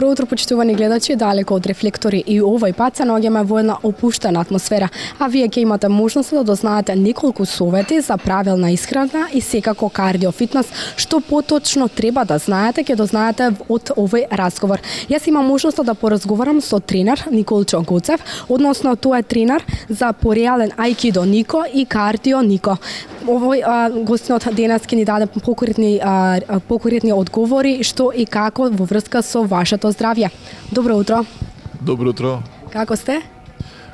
Добро утро, почитувани гледачи, далеко од рефлектори и овој пат се наоѓаме во една опуштена атмосфера, а вие ќе имате можност да дознаете неколку совети за правилна исхрана и секако кардио фитнес. Што поточно треба да знаете, ќе дознаете од овој разговор. Јас имам можност да поразговарам со тренер Николчо Гоцев, односно тоа е тренер за пореален аикидо Нико и кардио Нико. Овој гостинот денес ќе ни даде покоритни одговори што и како во врска со вашето здравје. Добро утро. Добро утро. Како сте?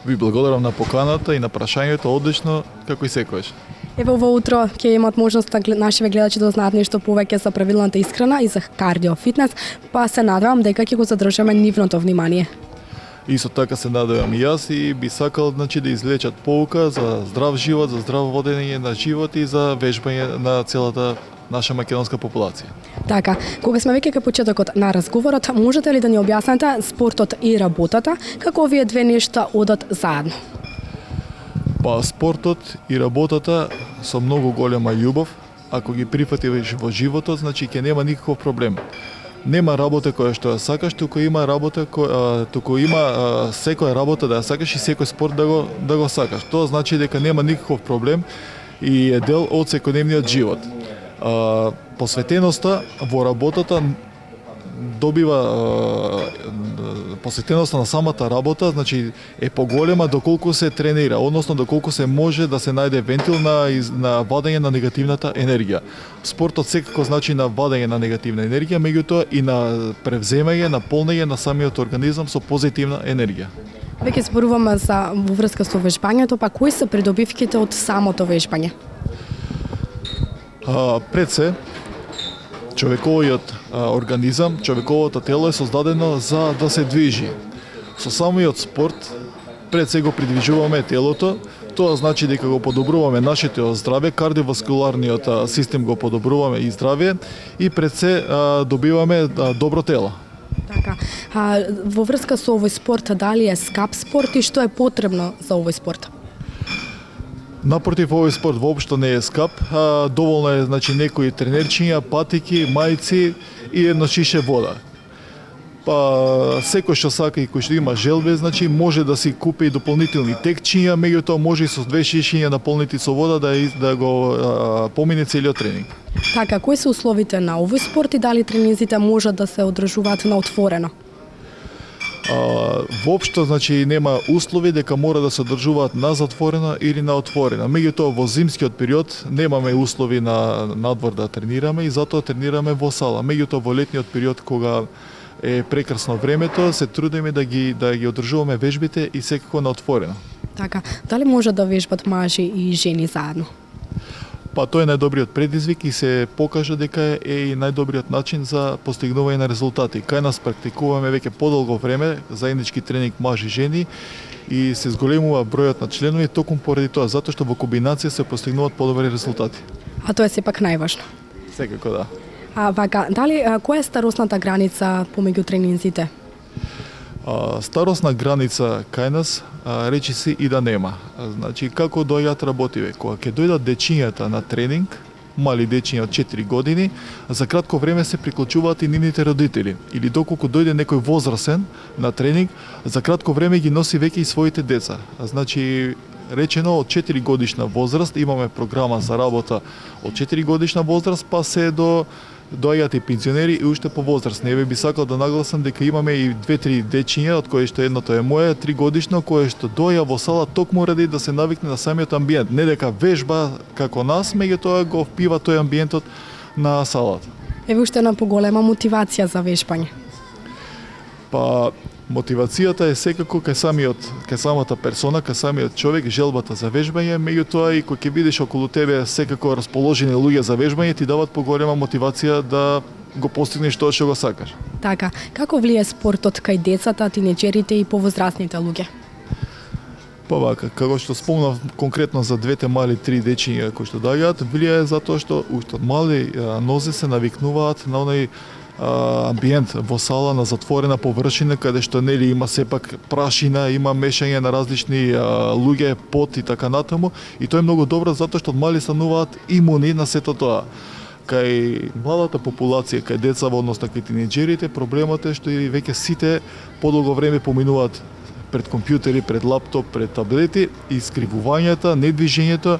Ви благодарам на поканата и на прашањето, одлично, како и секојаш. Ево во утро ќе имат можност нашите гледачи да знаат нешто повеќе за правилната исхрана и за кардио фитнес, па се надевам дека ќе го задржиме нивното внимание. Исто така се надевам и јас и би сакал да извлечат поука за здрав живот, за здраво водење на живот и за вежбање на целата наша македонска популација. Така, кога сме веќе кај почетокот на разговорот, можете ли да ни објасните спортот и работата, како овие две нешта одат заедно? Па спортот и работата со многу голема љубов, ако ги прифатиш во животот, значи ќе нема никаков проблем. Нема работа која што ја сакаш, туку има работа секоја работа да ја сакаш и секој спорт да го сакаш. Тоа значи дека нема никаков проблем и е дел од секојдневниот живот. Посветеноста во работата добива посветеноста на самата работа, значи е поголема доколку се тренира, односно доколку се може да се најде вентил на вадење на негативната енергија. Спортот секако значи на вадење на негативна енергија, меѓутоа и на превземање, на полнење на самиот организам со позитивна енергија. Веќе зборуваме за во врска со вежбањето, па кои се придобивките од самото вежбање? Пред се, човековиот организам, човековото тело е создадено за да се движи. Со самиот спорт, пред се го придвижуваме телото, тоа значи дека го подобруваме нашето здравје, кардиоваскуларниот систем го подобруваме и здравје и пред се добиваме добро тело. Така, во врска со овој спорт, дали е скап спорт и што е потребно за овој спорт? Напротив, овој спорт воопшто не е скап, доволно е некои тренерчиња, патики, мајци и едно шише вода. Па секој што сака и кој што има желбе, може да си купи и дополнителни текчиња, меѓутоа може и со 2 шишиња наполнети со вода да го помине целиот тренинг. Така, кои се условите на овој спорт и дали тренинзите можат да се одржуваат на отворено? Воопшто нема услови дека мора да се одржуваат на затворено или на отворено. Меѓутоа во зимскиот период немаме услови на надвор да тренираме и затоа тренираме во сала. Меѓутоа во летниот период кога е прекрасно времето, се трудиме да ги одржуваме вежбите и секако на отворено. Така, дали може да вежбат мажи и жени заедно? Па тоа е најдобриот предизвик и се покажа дека е и најдобриот начин за постигнување на резултати. Кај нас практикуваме веќе подолго време заеднички тренинг мажи и жени и се зголемува бројот на членови токму поради тоа, затоа што во комбинација се постигнуваат подобри резултати. А тоа е сепак најважно. Секако да. Дали која е старосната граница помеѓу тренинзите? Старосна граница кај нас речи се и да нема. Значи како доаѓаат работиве, кога ќе дојдат дечињата на тренинг, мали дечиња од 4 години, за кратко време се приклучуваат и нивните родители. Или доколку дојде некој возрасен на тренинг, за кратко време ги носи веќе и своите деца. Значи речено од 4 годишна возраст имаме програма за работа од 4 годишна возраст па се доаѓаат и пензионери и уште по возраст. Не би сакал да нагласам дека имаме и 2-3 дечиња, од кои што едното е моја, 3 годишно, кое што доаѓа во сала токму ради да се навикне на самиот амбиент. Не дека вежба како нас, меѓутоа го впива тој амбиентот на салата. Еве уште една поголема мотивација за вежбање. Па мотивацијата е секако кај самата персона, кај самиот човек, желбата за вежбање, меѓутоа и кога ќе видиш околу тебе секако расположени луѓе за вежбање, ти дават поголема мотивација да го постигнеш тоа што го сакаш. Така, како влие спортот кај децата, тинеџерите и повозрастните луѓе? Па вака, како што спомнав конкретно за двете мали 3 дечиња кои што доаѓаат, влијае затоа што уште од мали нозе се навикнуваат на онај амбиент во сала на затворена површина каде што нели има сепак прашина, има мешање на различни луѓе, пот и така натаму и тоа е многу добро затоа што од мали стануваат имуни на сето тоа. кај младата популација, кај децава, односно кај тинеџерите, проблемот е што и веќе сите подолго време поминуваат пред компјутери, пред лаптоп, пред таблети, и скривувањата, недвижењето,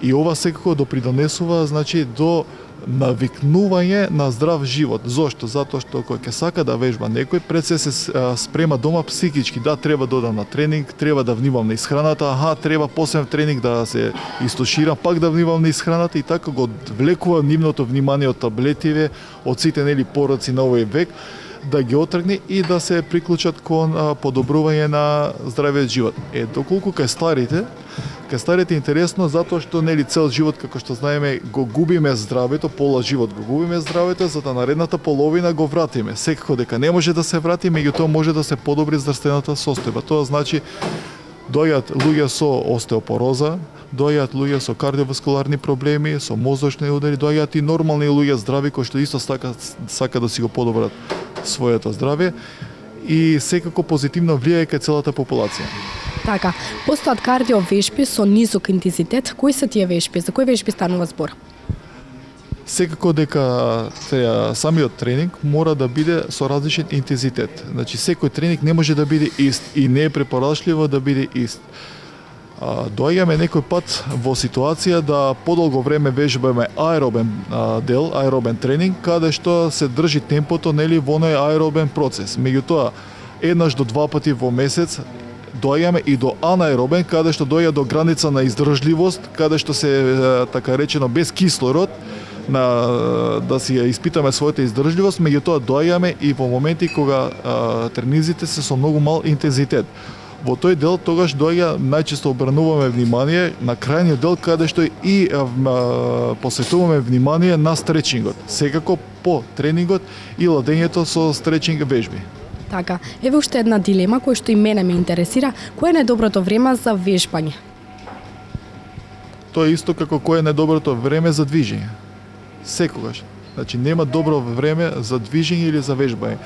и ова секако допридонесува, значи, до навикнување на здрав живот. Зошто? Затоа што кој ќе сака да вежба некој, пред се спрема дома психички. Да, треба да одам на тренинг, треба да внимам на исхраната, треба посебен тренинг да се истоширам, пак да внимам на исхраната, и така го влекува нивното внимание од таблетиве, од сите пороци на овој век, да ги отргне и да се приклучат кон подобрување на здравиот живот. Доколку кај старите е интересно, затоа што цел живот, како што знаеме, го губиме здравето, пола живот го губиме здравето, за да наредната половина го вратиме. Секако дека не може да се врати, меѓутоа може да се подобри здравствената состојба. Тоа значи доаѓаат луѓе со остеопороза, доаѓаат луѓе со кардиоваскуларни проблеми, со мозочни удари, доаѓаат и нормални луѓе здрави кои што исто сака да си го подобрат своето здравје, и секако позитивно влијае кај целата популација. Така, постојат кардиовешби со низок интензитет. Кои се тие вешби? За кои вешби станува збор? Секако дека самиот тренинг мора да биде со различен интензитет. Значи, секој тренинг не може да биде ист и не е препорачливо да биде ист. Доаѓаме некој пат во ситуација да подолго време вежбаме аеробен дел, аеробен тренинг, каде што се држи темпото во оној аеробен процес. Меѓутоа, еднаш до 2 пати во месец доаѓаме и до анаеробен, каде што доаѓа до граница на издржливост, каде што се, така речено, без кислород, да си ја испитаме својата издржливост, меѓутоа доаѓаме и во моменти кога тренизите се со многу мал интензитет. Во тој дел тогаш доаѓа, најчесто обрнуваме внимание на крајниот дел, каде што и посветуваме внимание на стречингот. Секако по тренингот и ладењето со стречинг вежби. Така, еве уште една дилема која што и мене ме интересира. Кој е најдоброто време за вежбање? Тоа е исто како кој е најдоброто време за движење. Секогаш. Значи, нема добро време за движење или за вежбање.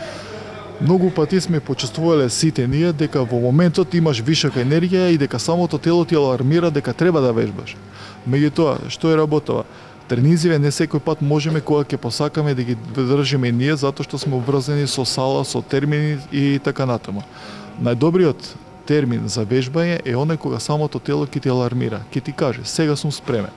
Многу пати сме почувствувале сите ние дека во моментот имаш вишока енергија и дека самото тело ти алармира дека треба да вежбаш. Меѓутоа, што е работава? Тренизиве не секој пат можеме кога ќе посакаме да ги држиме ние, затоа што сме обврзани со сала, со термини и така натаму. Најдобриот термин за вежбање е оној кога самото тело ќе ти алармира, ќе ти каже сега сум спремен.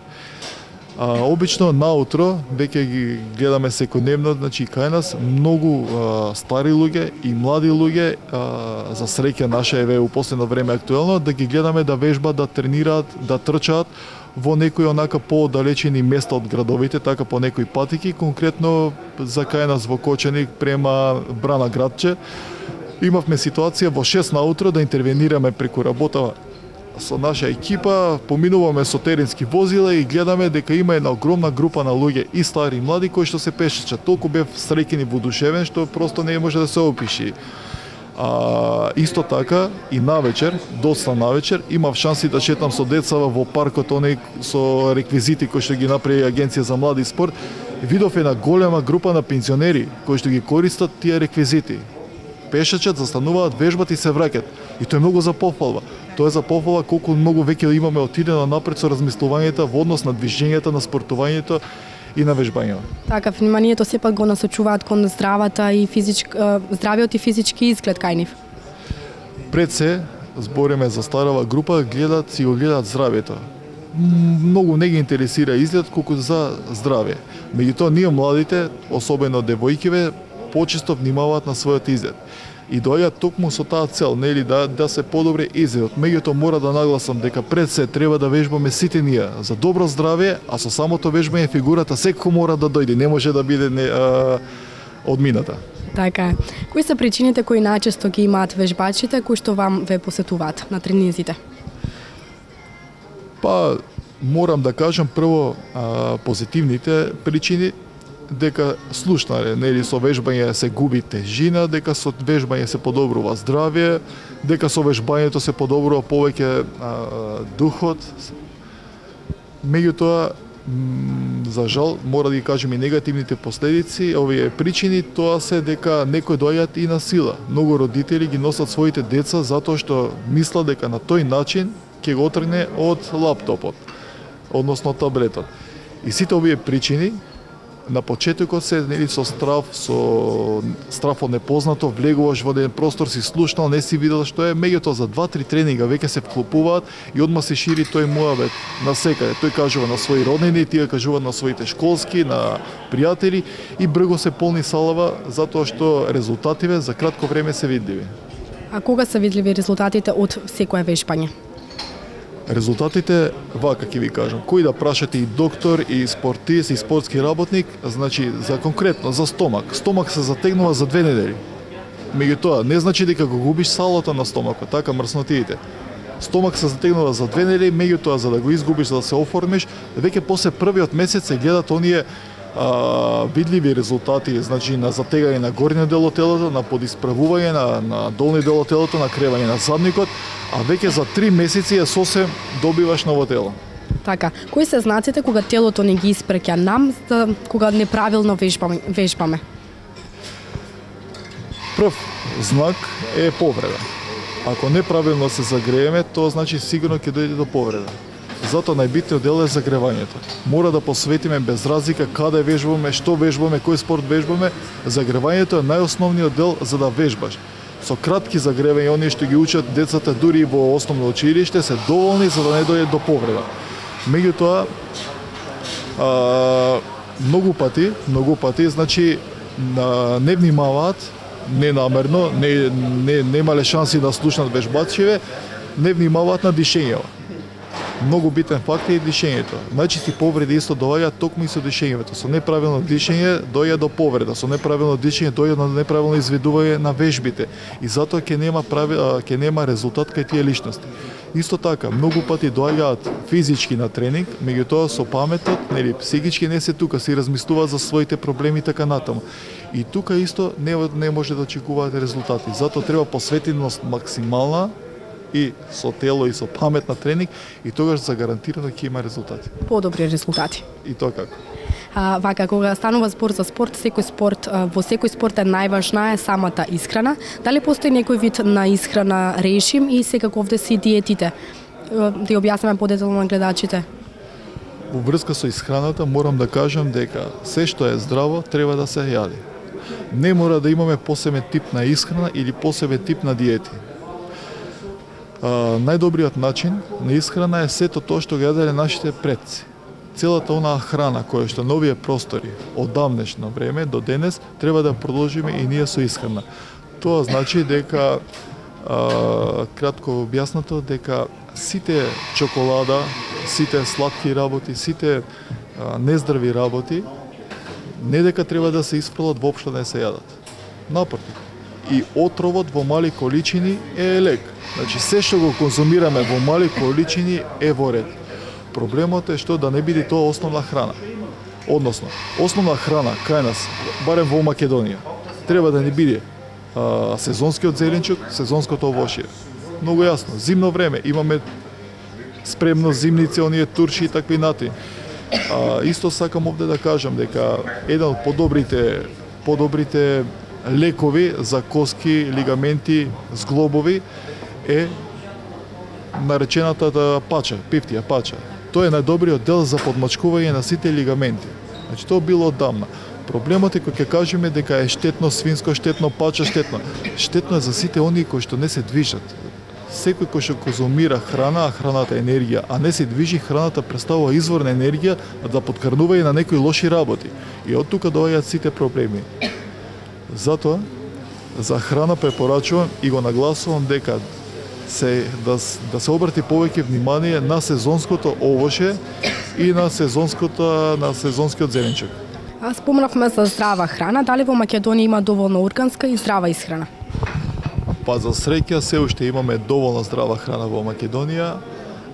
Обично наутро веќе ги гледаме секојдневно, значи кај нас многу стари луѓе и млади луѓе, за среќа наша еве у последно време актуелно, да ги гледаме да вежбаат, да тренираат, да трчаат во некои онака поодалечени места од градовите, така по некои патики, конкретно за кај нас во Кочаник према Брана градче. Имавме ситуација во 6 наутро да интервенираме преку работа со наша екипа, поминуваме со теренски возила и гледаме дека има една огромна група на луѓе и стари и млади кои што се пешачат. Толку бев среќен и воодушевен што просто не може да се опиши. Исто така и навечер, доста навечер, имав шанси да шетам со децава во паркот оној со реквизити кои што ги направи Агенција за млади спорт. Видов една голема група на пензионери кои што ги користат тие реквизити. Пешачат, застануваат, вежбат и се враќаат. И тоа е многу за похвалба. Тоа е за похвала колку многу веќе имаме отидено напред со размислувањето во однос на движењето, на спортувањето и на вежбањето. Така, вниманието сепак го насочуваат кон здравиот и физички изглед кај нив. Пред се, збориме за старава група, гледаат го гледаат здравието. Многу не ги интересира изглед колку за здравје. Меѓутоа, ние младите, особено девојкиве, почесто внимаваат на својот изглед. И доаѓаат токму со таа цел, нели, да се подобри изгледот. Меѓутоа мора да нагласам дека пред се треба да вежбаме сите ние за добро здравје, а со самото вежбање фигурата секако мора да дојде, не може да биде одмината. Така е. Кои се причините кои најчесто ги имаат вежбачите кои што вам ве посетуваат на тренизите? Па, морам да кажам прво позитивните причини, дека слушнале, нели, со вежбање се губи тежина, дека со вежбање се подобрува здравје, дека со вежбањето се подобрува повеќе духот. Меѓутоа, за жал, мора да ги кажем и негативните последици, овие причини, тоа се дека некои доаѓаат и на сила. Многу родители ги носат своите деца затоа што мислат дека на тој начин ќе го отргне од лаптопот, односно таблетот. И сите овие причини на почетокот се со страв од непознато, влегуваш во еден простор, си слушнал, не си видел што е, меѓутоа за 2-3 тренинга веќе се вклопуваат и одма се шири тој муабет на секаде. Тој кажува на своји роднини, тие кажуваат на своите школски, на пријатели и брго се полни салава затоа што резултативе за кратко време се видливи. А кога се видливи резултатите од секое вежбање? Резултатите, вака ќе ви кажам, кој да прашате и доктор, и спортист, и спортски работник, значи за конкретно, за стомак. Стомак се затегнува за 2 недели. Меѓутоа, не значи дека го губиш салото на стомакот, така мрснотиите. Стомак се затегнува за 2 недели, меѓутоа за да го изгубиш, за да се оформиш, веќе после првиот месец се гледат оние видливи резултати, значи на затегање на горниот дел од телото, на подисправување на долниот дел од телото, на кревање на задникот, а веќе за 3 месеци е сосем добиваш ново тело. Така, кои се знаците кога телото не ги испреќа нам, кога неправилно вежбаме? Прв знак е повреда. Ако неправилно се загрееме, тоа значи сигурно ќе дојде до повреда. Затоа најбитниот дел е загревањето. Мора да посветиме без разлика каде вежбаме, што вежбаме, кој спорт вежбаме. Загревањето е најосновниот дел за да вежбаш. Со кратки загревања, оние што ги учат децата дури во основно училиште, се доволни за да не дојде до повреда. Меѓутоа, многу пати, значи не внимаваат, ненамерно, немале шанси да слушнат вежбачиве, не внимаваат на дишењето. Многу битен факт е и дишењето. Најчести повреди исто доаѓаат токму и со дишењето. Со неправилно дишење доаѓа до повреда, со неправилно дишење доаѓа до неправилно изведување на вежбите и затоа ќе нема резултат кај тие личности. Исто така, многу пати доаѓаат физички на тренинг, меѓутоа со паметот, нели, психички не се тука, се размислуваат за своите проблеми така натаму. И тука исто не може да очекуваат резултати. Затоа треба посветеност максимална и со тело и со памет на тренинг и тогаш за гарантирано ќе има резултати. Подобри резултати. И тоа како? Вака, кога станува збор за спорт, во секој спорт е најважна е самата исхрана. Дали постои некој вид на исхрана режим и секако овде си диетите? Да ја објасниме подетално на гледачите. Во врска со исхраната морам да кажам дека се што е здраво треба да се јади. Не мора да имаме посебен тип на исхрана или посебен тип на диети. Најдобриот начин на исхрана е сето тоа што го јаделе нашите предци. Целата онаа храна која што на овие простори од давнешно време до денес треба да продолжиме и ние со исхрана. Тоа значи дека кратко објаснато дека сите чоколада, сите сладки работи, сите нездрави работи не дека треба да се испрлат, воопшто не се јадат. Напротив, и отровот во мали количини е лек. Значи, се што го конзумираме во мали количини е во ред. Проблемот е што да не биде тоа основна храна. Односно, основна храна кај нас, барем во Македонија, треба да не биде сезонскиот зеленчук, сезонското овошје. Многу јасно, зимно време, имаме спремно зимници, оние турши и такви нати. Исто сакам овде да кажам дека еден од подобрите лекови за коски, лигаменти, зглобови е наречената пача, пифтија пача. Тоа е најдобриот дел за подмачкување на сите лигаменти. Значи тоа било оддавна. Проблемот е кога ќе кажеме дека е штетно свинско, штетно пача, штетно. Штетно е за сите оние кои што не се движат. Секој кој што конзумира храна, а храната е енергија, а не се движи, храната представува извор на енергија да подкрнува и на некои лоши работи. И од тука доаѓаат сите проблеми. Затоа, за храна препорачувам и го нагласувам дека да се обрати повеќе внимание на сезонското овоше и на сезонскиот зеленчук. Спомнавме за здрава храна, дали во Македонија има доволно органска и здрава исхрана? Па за среќа се уште имаме доволно здрава храна во Македонија.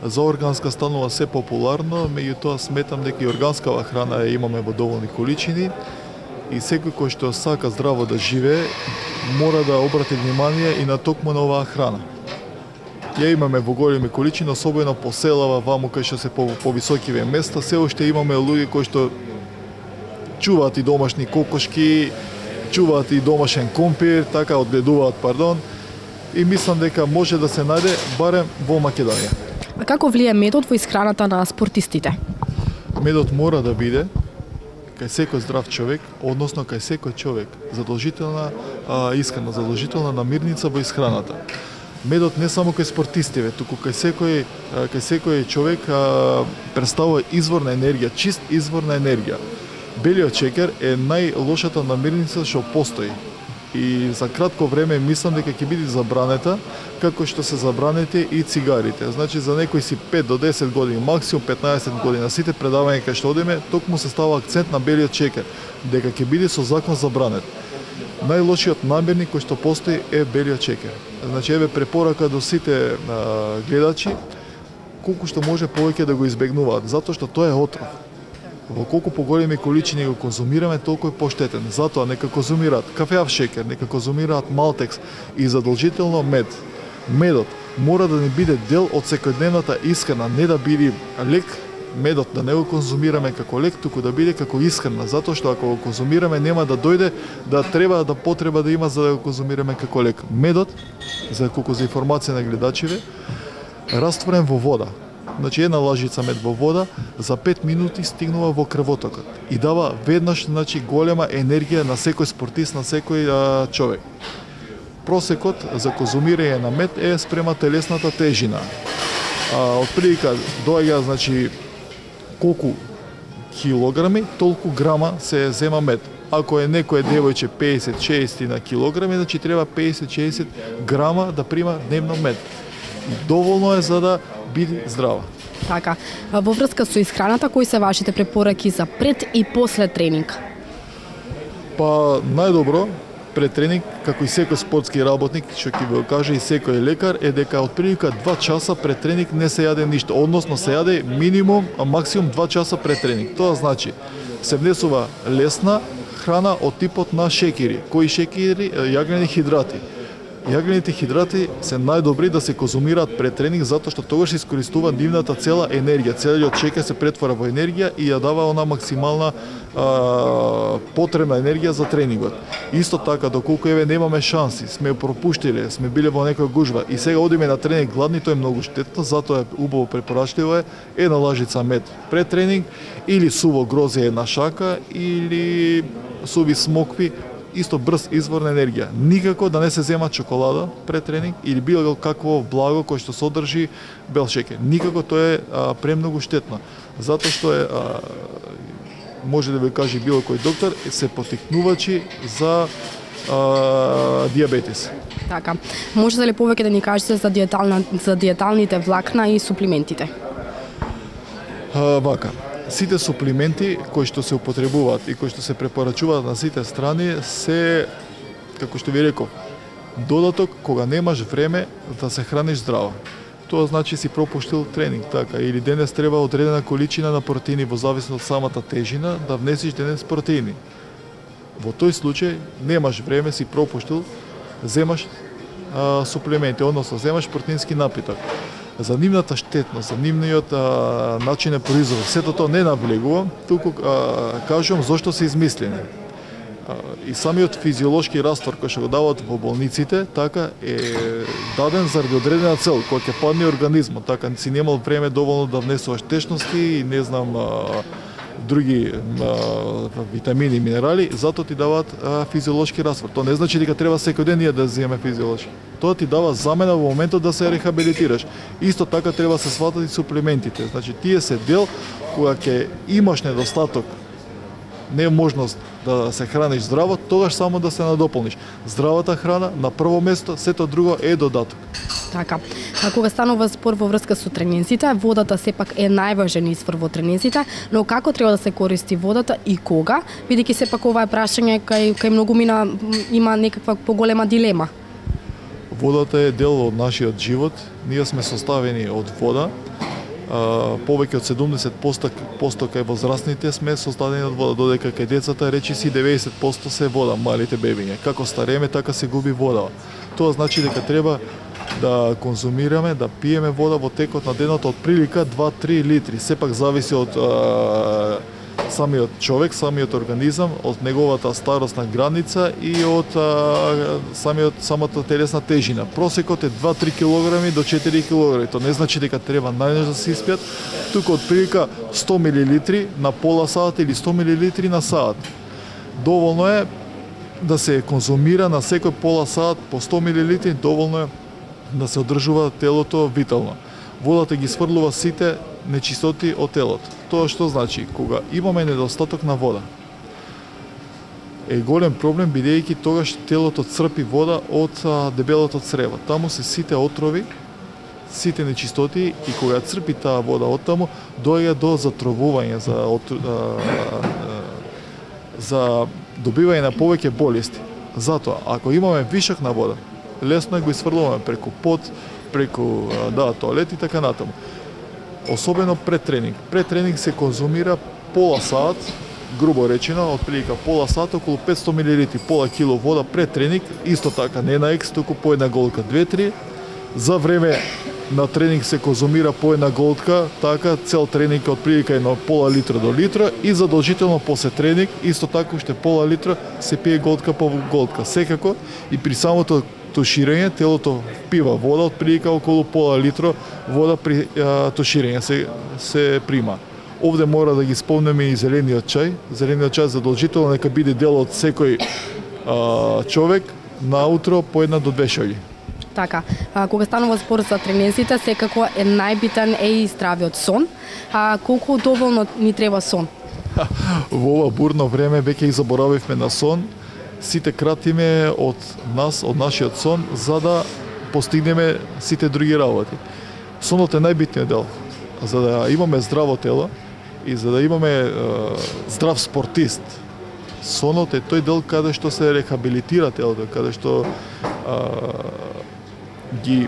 За органска станува се популарно, меѓутоа сметам дека и органскава храна ја имаме во доволни количини и секој кој што сака здраво да живее мора да обрати внимание и на токму на оваа храна. Ја имаме во големи количини, особено по селава, ваму кај што се повисокиве места, се уште имаме луѓе кои што чуваат и домашни кокошки, чуваат и домашен компир, така одгледуваат, и мислам дека може да се најде барем во Македонија. А како влие медот во исхраната на спортистите? Медот мора да биде кај секој здрав човек, односно кај секој човек, задолжителна искрена, задолжителна намирница во исхраната. Медот не само кај спортистиве, туку кај секој човек представува извор на енергија, чист извор на енергија. Белиот шекер е најлошата намирница што постои. И за кратко време мислам дека ќе биде забранета, како што се забранети и цигарите. Значи за некои си 5 до 10 години, максимум 15 години, на сите предавања кај што одиме, токму се става акцент на белиот шекер, дека ќе биде со закон забранет. Најлошиот намирник кој што постои е белиот шекер. Значи еве препорака до сите гледачи колку што може повеќе да го избегнуваат, затоа што тоа е отров. Во колку поголеми количини го конзумираме, толку е поштетен. Затоа нека конзумираат кафеав шекер, нека конзумираат малтекс и задолжително мед. Медот мора да не биде дел од секојдневната исхрана, не да биде лек. Медот да не го конзумираме како лек, туку да биде како исхрана, затоа што ако го конзумираме нема да дојде да треба да потреба да има за да го конзумираме како лек. Медот, за колку за информација на гледачиве, растворен во вода. Значи една лажица мед во вода за 5 минути стигнува во крвотокот и дава веднаш голема енергија на секој спортист, на секој човек. Просекот за конзумирање на мед е спрема телесната тежина. Отприлика доаѓа колку килограми, толку грама се зема мед. Ако е некој девојче 50-60 на килограми, значи треба 50-60 грама да прима дневно мед. Доволно е за да биде здрава. Така, во врска со исхраната, кои се вашите препораки за пред и после тренинг? Па најдобро пред тренинг, како и секој спортски работник, што ќе го каже и секој лекар, е дека отприлика 2 часа пред тренинг не се јаде ништо, односно се јаде минимум, а максимум 2 часа пред тренинг. Тоа значи се внесува лесна храна од типот на шекери. Кои шекери? Јаглени хидрати. Јаглените хидрати се најдобри да се конзумираат пред тренинг, затоа што тогаш се искористува нивната цела енергија. Целиот шекер се претвара во енергија и ја дава она максимална потребна енергија за тренингот. Исто така, доколку еве немаме шанси, сме пропуштиле, сме биле во некоја гужва и сега одиме на тренинг гладни, тоа е многу штетно, затоа е убаво препорачливо една лажица мед пред тренинг или суво грозје една шака или суви смокви, исто брз извор на енергија. Никако да не се зема чоколада пред тренинг или било какво благо кој што содржи бел шекер. Никако тоа е премногу штетно. Затоа што е може да ви каже било кој доктор, се потикнувачи за диабетис. Така. Можете ли повеќе да ни кажете за диеталните влакна и суплиментите? Вака. Сите суплименти кои што се употребуваат и кои што се препорачуваат на сите страни се, како што ви реков, додаток кога немаш време да се храниш здраво. Тоа значи си пропуштил тренинг, така, или денес треба одредена количина на протеини во зависност од самата тежина да внесиш денес протеини. Во тој случај немаш време, си пропуштил, земаш суплименти, односно земаш протеински напиток. За нивната штетност, за нивниот начин на производ, сето тоа не навлегувам, туку кажувам зошто се измислени. И самиот физиолошки раствор кој што го даваат во болниците, така е даден заради одредена цел, која ќе падне организмот, така си немал време доволно да внесуваш течности и не знам други витамини и минерали, затоа ти даваат физиолошки раствор. Тоа не значи дека треба секој ден ние да земеме физиолошки. Тоа ти дава замена во моментот да се рехабилитираш. Исто така треба се сватат и суплиментите. Значи тие се дел кога ќе имаш недостаток, не е можност да се храниш здраво, тогаш само да се надополниш. Здравата храна на прво место, сето друго е додаток. Така. Кога станува збор во врска со тренинзите, водата сепак е најважен извор во тренинзите, но како треба да се користи водата и кога, бидејќи сепак ова е прашање кај многу мина има некаква поголема дилема. Водата е дел од нашиот живот. Ние сме составени од вода. Повеќе од 70% кај возрастните сме составени од вода, додека кај децата речиси 90% се вода, малите бебиња. Како стареме, така се губи вода. Тоа значи дека треба да конзумираме, да пиеме вода во текот на денот од прилика 2-3 литри. Сепак зависи од самиот човек, самиот организам, од неговата старосна граница и од самата телесна тежина. Просекот е 2-3 кг до 4 кг. Тоа не значи дека треба најнеж да се испијат, туку отприлика 100 мл на пола сат или 100 мл на сат. Доволно е да се конзумира на секој пола сат по 100 мл, доволно е да се одржува телото витално. Водата ги сврлува сите нечистоти од телото. Тоа што значи, кога имаме недостаток на вода, е голем проблем, бидејќи тогаш телото црпи вода од дебелото црево. Таму се сите отрови, сите нечистоти, и кога црпи таа вода од таму, доаѓа до затровување, за добивање на повеќе болести. Затоа, ако имаме вишок на вода, лесно го изфрлуваме преку пот, преку тоалет и така натаму. Особено пред тренинг. Пред тренинг се конзумира пола сат, грубо речено, отприлика пола сат, околу 500 мл, пола кило вода пред тренинг, исто така не на екс, туку по една голтка 2-3. За време на тренинг се конзумира по една голтка, така цел тренинг отприлика едно пола литра до литра, и задолжително после тренинг исто така уште пола литра се пие голтка по голтка. Секако и при самото туширање телото пива вода, отприлика околу пола литра вода при туширање се прима. Овде мора да ги спомнеме и зелениот чај. Зелениот чај задолжително нека биде дел од секој човек наутро по 1 до 2 шоги. Така, кога станува спор за тренерците, секако е најбитен и здравиот сон. Колку доволно ни треба сон? Во ова бурно време веќе и заборавивме на сон. Сите кратиме од нас, од нашиот сон, за да постигнеме сите други работи. Сонот е најбитниот дел. За да имаме здраво тело и за да имаме здрав спортист, сонот е тој дел каде што се рехабилитира телото, каде што ги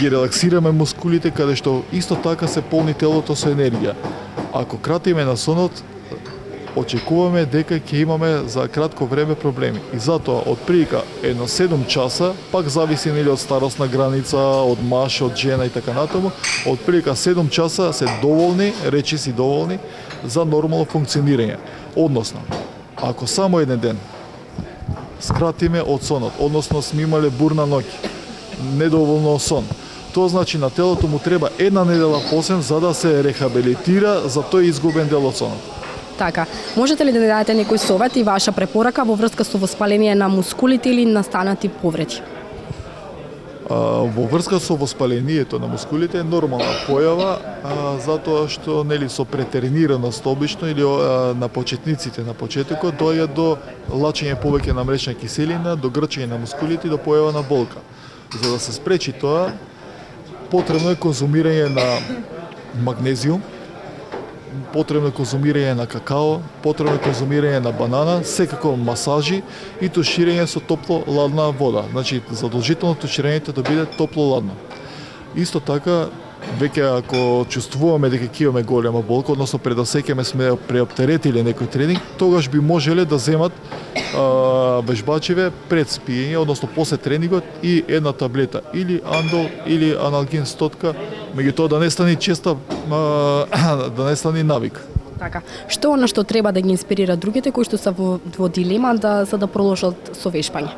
релаксираме мускулите, каде што исто така се полни телото со енергија. Ако кратиме на сонот, очекуваме дека ќе имаме за кратко време проблеми. И затоа, отприлика едно 7 часа, пак зависи нели од старосна граница, од маж, од жена и така натаму, отприлика 7 часа се доволни, речиси доволни, за нормално функционирање. Односно, ако само еден ден скратиме од сонот, односно сме имале бурна ноќ, недоволно сон, тоа значи на телото му треба една недела посем за да се рехабилитира за тој изгубен дел од сонот. Така, можете ли да дадете некој совет и ваша препорака во врска со воспаление на мускулите или настанати повреди? Во врска со воспалението на мускулите е нормална појава, затоа што нели со претренираност обично или на почетниците на почетокот доаѓа до лачење повеќе на млечна киселина, до грчење на мускулите и до појава на болка. За да се спречи тоа, потребно е конзумирање на магнезиум, потребно е конзумирање на какао, потребно е конзумирање на банана, секако масажи и туширање со топло-ладна вода. Значи, задолжително туширањето да биде топло-ладно. Исто така, веќе ако чувствуваме дека ќе имаме голема болка, односно пред да сеќаме сме преоптеретиле некој тренинг, тогаш би можеле да земат вежбачиве пред спиење, односно после тренингот, и една таблета или андол или аналгин стотка, меѓутоа да не стане честа, да не стане навик. Така, што она што треба да ги инспирира другите кои што се во дилема за да продолжат со вежбање?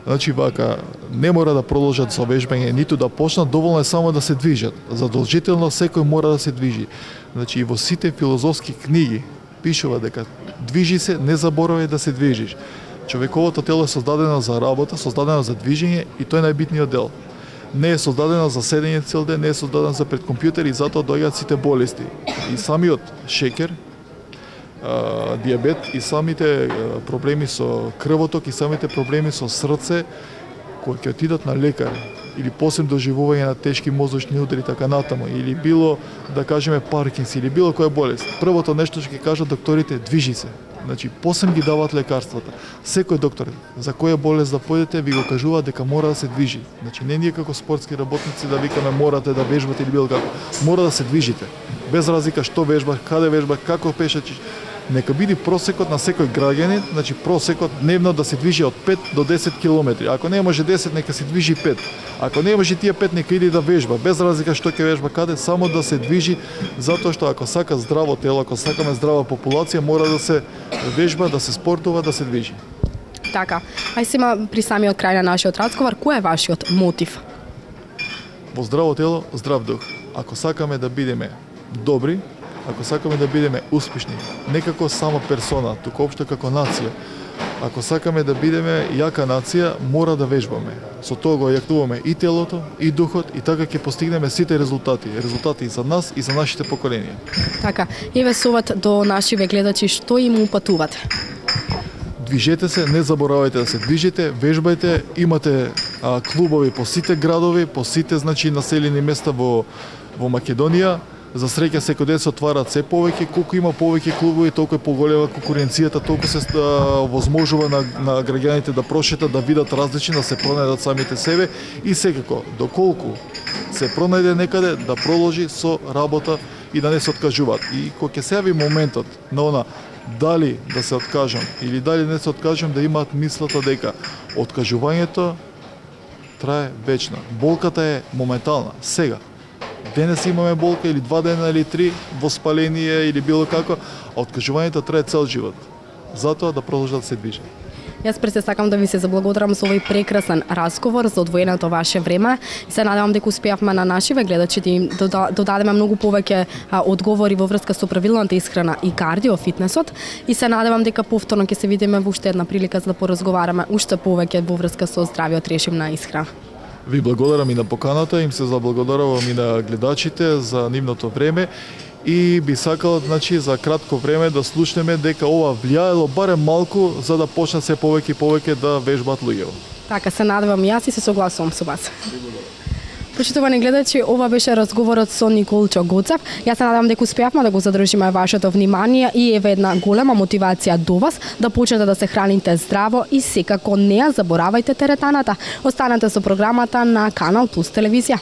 Значи вака, не мора да продолжат со вежбање, ниту да почнат, доволно е само да се движат. Задолжително секој мора да се движи. Значи и во сите филозофски книги пишува дека движи се, не заборавај да се движиш. Човековото тело е создадено за работа, создадено за движење и тој е најбитниот дел. Не е создадено за седење цел ден, не е создадено за пред компјутер и затоа доаѓаат сите болести. И самиот шекер, диабет и самите проблеми со крвоток и самите проблеми со срце, кои ќе отидат на лекар или посебно доживување на тешки мозочни удари така натаму, или било да кажеме Паркинс или било која болест. Првото нешто што ќе кажат докторите, движи се. Значи посебно ги даваат лекарствата. Секој доктор за која болест да појдете ви го кажува дека мора да се движи. Значи не ние како спортски работници да викаме морате да вежбате или било како. Мора да се движите. Без разлика што вежбаш, каде вежбаш, како пешачиш. нека биде просекот на секој граѓанин, значи просекот дневно да се движи од 5 до 10 километри. Ако не може 10, нека се движи 5. Ако не може тие 5, нека иде да вежба, без разлика што ќе вежба каде, само да се движи, затоа што ако сака здраво тело, ако сакаме здрава популација, мора да се вежба, да се спортува, да се движи. Така, ај сега при самиот крај на нашиот разговор, кој е вашиот мотив? Во здраво тело, здрав дух. Ако сакаме да бидеме добри, ако сакаме да бидеме успешни, не како само персона, туку општо како нација, ако сакаме да бидеме јака нација, мора да вежбаме. Со тоа го јакнуваме и телото, и духот, и така ќе постигнеме сите резултати. Резултати и за нас, и за нашите поколенија. Така, еве совет до нашиве гледачи, што им упатувате? Движете се, не заборавајте да се движите, вежбајте, имате клубови по сите градови, по сите населени места во Македонија. За среќа секој ден се отвараат се повеќе, колку има повеќе клубови, толку е поголема конкуренцијата, толку се возможува на граѓаните да прошетат, да видат различни, да се пронајдат самите себе и секако, доколку се пронајде некаде, да продолжи со работа и да не се откажуваат. И кога ќе се јави моментот на она дали да се откажам или дали не се откажам, да имаат мислата дека откажувањето трае вечно. Болката е моментална, сега. Денес имаме болка или 2 дена или 3 воспаление или било како, а откажувањето трае цел живот. Затоа да продолжат да се движат. Јас пред се сакам да ви се заблагодарам за овој прекрасен разговор, за одвоеното ваше време. И се надевам дека успеавме на нашиве гледачи да им додадеме многу повеќе одговори во врска со правилната исхрана и кардио фитнесот. И се надевам дека повторно ќе се видиме во уште една прилика за да поразговараме уште повеќе во врска со здравиот режим на исхрана. Ви благодарам и на поканата, им се заблагодарувам и на гледачите за нивното време и би сакал за кратко време да слушнеме дека ова влијаело барем малку за да почнат се повеќе и повеќе да вежбаат луѓето. Така се надевам јас и се согласувам со вас. Почитувани гледачи, ова беше разговорот со Николчо Гоцев. Јас се надевам дека успеавме да го задржиме вашето внимание и еве една голема мотивација до вас да почнете да се храните здраво и секако не ја заборавајте теретаната. Останете со програмата на Канал Плюс телевизија.